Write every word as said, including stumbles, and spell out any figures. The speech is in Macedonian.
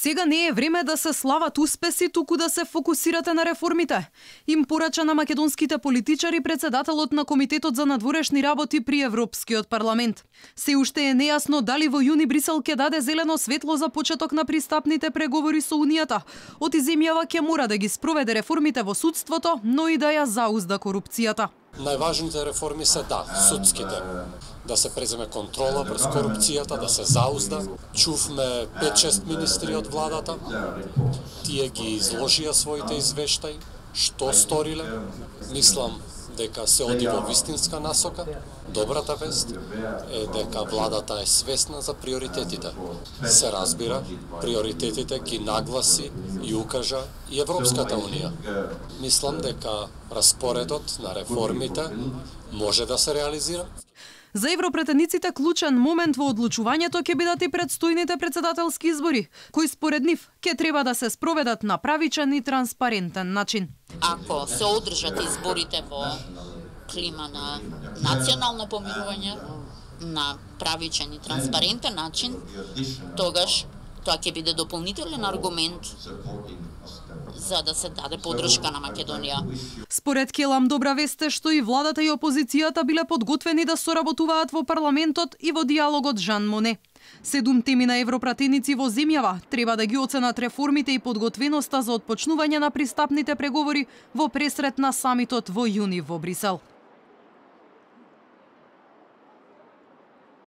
Сега не е време да се слават успеси, туку да се фокусирате на реформите. Им порача на македонските политичари председателот на Комитетот за надворешни работи при Европскиот парламент. Се уште е нејасно дали во јуни Брисел ќе даде зелено светло за почеток на пристапните преговори со Унијата. Од иземјава ќе мора да ги спроведе реформите во судството, но и да ја заузда корупцијата. Најважните реформи се да, судските. Да се преземе контрола врз корупцијата, да се заузда. Чувме пет-шест министри од владата. Тие ги изложија своите извештаи, што сториле. Мислам дека се оди во вистинска насока. Добрата вест е дека владата е свесна за приоритетите. Се разбира, приоритетите ги нагласи и укажа и Европската Унија. Мислам дека распоредот на реформите може да се реализира. За европретениците клучен момент во одлучувањето ќе бидат и предстојните председателски избори, кои според нив ќе треба да се спроведат на правичен и транспарентен начин. Ако се одржат изборите во клима на национално помирување, на правичен и транспарентен начин, тогаш тоа ќе биде дополнителен аргумент за да се даде поддршка на Македонија. Според Келам, добра вест е што и владата и опозицијата биле подготвени да соработуваат во парламентот и во диалогот Жан Моне. Седум теми на европратеници во земјава треба да ги оценат реформите и подготвеноста за отпочнување на пристапните преговори во пресрет на самитот во јуни во Брисел.